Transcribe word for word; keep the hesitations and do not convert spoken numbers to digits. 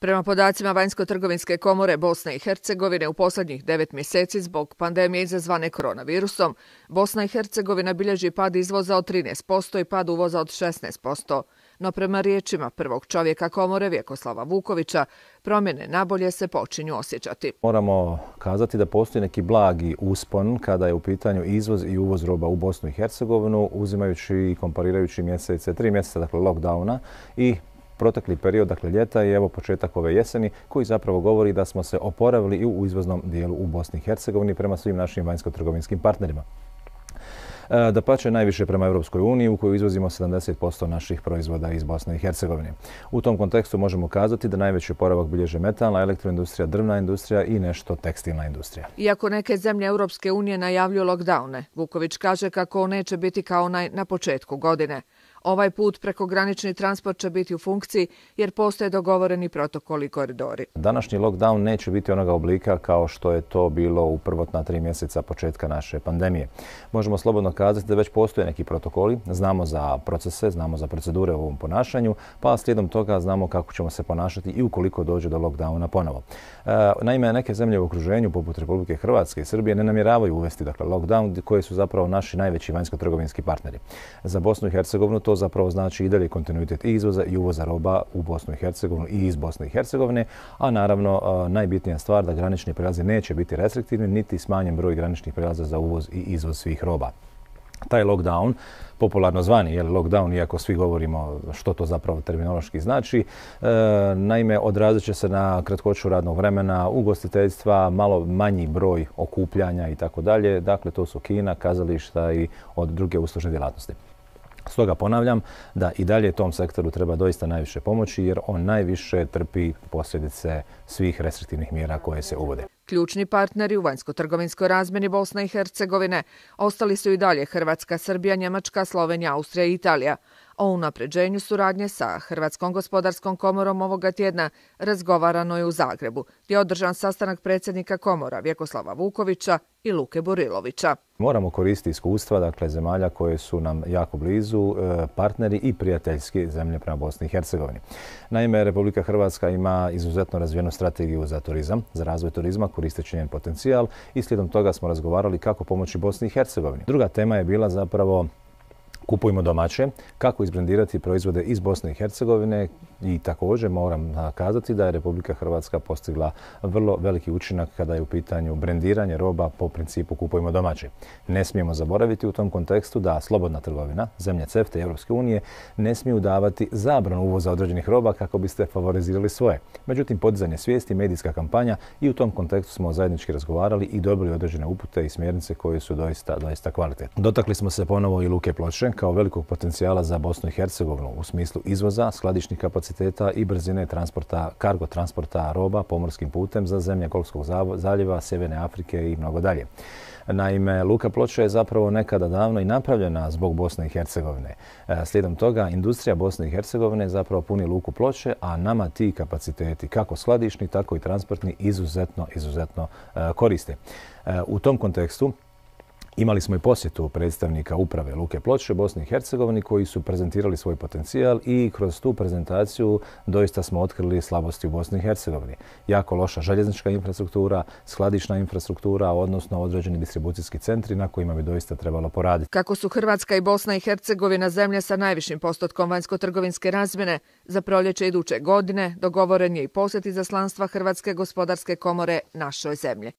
Prema podacima Vanjsko-trgovinske komore Bosne i Hercegovine u posljednjih devet mjeseci zbog pandemije izazvane koronavirusom, Bosna i Hercegovina bilježi pad izvoza od trinaest posto i pad uvoza od šesnaest posto. No prema riječima prvog čovjeka komore Vjekoslava Vukovića, promjene nabolje se počinju osjećati. Moramo kazati da postoji neki blagi uspon kada je u pitanju izvoz i uvoz roba u Bosnu i Hercegovinu, uzimajući i komparirajući mjesece, tri mjeseca dakle lockdowna i protekli period, dakle ljeta i evo početak ove jeseni, koji zapravo govori da smo se oporavili i u izvoznom dijelu u Bosni i Hercegovini prema svim našim vanjsko-trgovinskim partnerima. Dapače, najviše prema Europskoj uniji u kojoj izvozimo sedamdeset posto naših proizvoda iz Bosne i Hercegovine. U tom kontekstu možemo kazati da najveći oporavak bilježe metalna, elektroindustrija, drvna industrija i nešto tekstilna industrija. Iako neke zemlje Europske unije najavljuju lockdowne, Vuković kaže kako on neće biti kao onaj na početku godine. Ovaj put prekogranični transport će biti u funkciji jer postoje dogovoreni protokoli i koridori. Današnji lockdown neće biti onoga oblika kao što je to bilo u prvotna tri mjeseca početka naše pandemije. Možemo slobodno kazati da već postoje neki protokoli, znamo za procese, znamo za procedure u ovom ponašanju, pa slijedom toga znamo kako ćemo se ponašati i ukoliko dođe do lockdowna ponovo. Naime, neke zemlje u okruženju, poput Republike Hrvatske i Srbije, ne namjeravaju uvesti dakle, lockdown, koji su zapravo naši najveći vanjsko-trgovinski partneri. Za Bosnu i Hercegovinu to zapravo znači i dalje kontinuitet i izvoza i uvoza roba u Bosnu i Hercegovinu i iz Bosne i Hercegovine, a naravno najbitnija stvar da granični prijelazi neće biti restriktivni, niti smanjen broj graničnih prijelaza za uvoz i izvoz svih roba. Taj lockdown, popularno zvani je lockdown, iako svi govorimo što to zapravo terminološki znači, e, naime odrazit će se na kratkoću radnog vremena, ugostiteljstva, malo manji broj okupljanja i tako dalje. Dakle, to su kina, kazališta i od druge uslužne djelatnosti. Stoga ponavljam da i dalje tom sektoru treba doista najviše pomoći jer on najviše trpi posljedice svih restriktivnih mjera koje se uvode. Ključni partneri u vanjsko-trgovinskoj razmjeni Bosne i Hercegovine ostali su i dalje Hrvatska, Srbija, Njemačka, Slovenija, Austrija i Italija. O unapređenju suradnje sa Hrvatskom gospodarskom komorom ovoga tjedna razgovarano je u Zagrebu, gdje je održan sastanak predsjednika komora Vjekoslava Vukovića i Luke Burilovića. Moramo koristiti iskustva dakle, zemalja koje su nam jako blizu, partneri i prijateljski zemlje prema Bosni i Hercegovini. Naime, Republika Hrvatska ima izuzetno razvijenu strategiju za turizam, za razvoj turizma, koristeći njen potencijal i slijedom toga smo razgovarali kako pomoći Bosni i Hercegovini. Druga tema je bila zapravo kupujmo domaće, kako izbrendirati proizvode iz Bosne i Hercegovine i također moram kazati da je Republika Hrvatska postigla vrlo veliki učinak kada je u pitanju brendiranje roba po principu kupujmo domaće. Ne smijemo zaboraviti u tom kontekstu da slobodna trgovina, zemlje CEFTA i Europske unije ne smiju davati zabranu uvoza određenih roba kako biste favorizirali svoje. Međutim, podizanje svijesti, medijska kampanja i u tom kontekstu smo zajednički razgovarali i dobili određene upute i smjernice koje su doista, doista kvalitetne. Dotakli smo se ponovo i Luke Ploče kao velikog potencijala za Bosnu i Hercegovinu u smislu izvoza, skladišnih kapaciteta i brzine transporta, kargo transporta roba pomorskim putem za zemlje Golfskog zaljeva, Sjeverne Afrike i mnogo dalje. Naime, Luka Ploče je zapravo nekada davno i napravljena zbog Bosne i Hercegovine. Slijedom toga, industrija Bosne i Hercegovine zapravo puni Luku Ploče, a nama ti kapaciteti, kako skladišni, tako i transportni, izuzetno, izuzetno koriste. U tom kontekstu, imali smo i posjetu predstavnika uprave Luke Ploče Bosne i Hercegovine koji su prezentirali svoj potencijal i kroz tu prezentaciju doista smo otkrili slabosti u Bosni i Hercegovini. Jako loša željeznička infrastruktura, skladišna infrastruktura, odnosno određeni distribucijski centri na kojima bi doista trebalo poraditi. Kako su Hrvatska i Bosna i Hercegovina zemlje sa najvišim postotkom vanjsko-trgovinske razmjene, za proljeće iduće godine dogovoren je i posjet izaslanstva Hrvatske gospodarske komore našoj zemlji.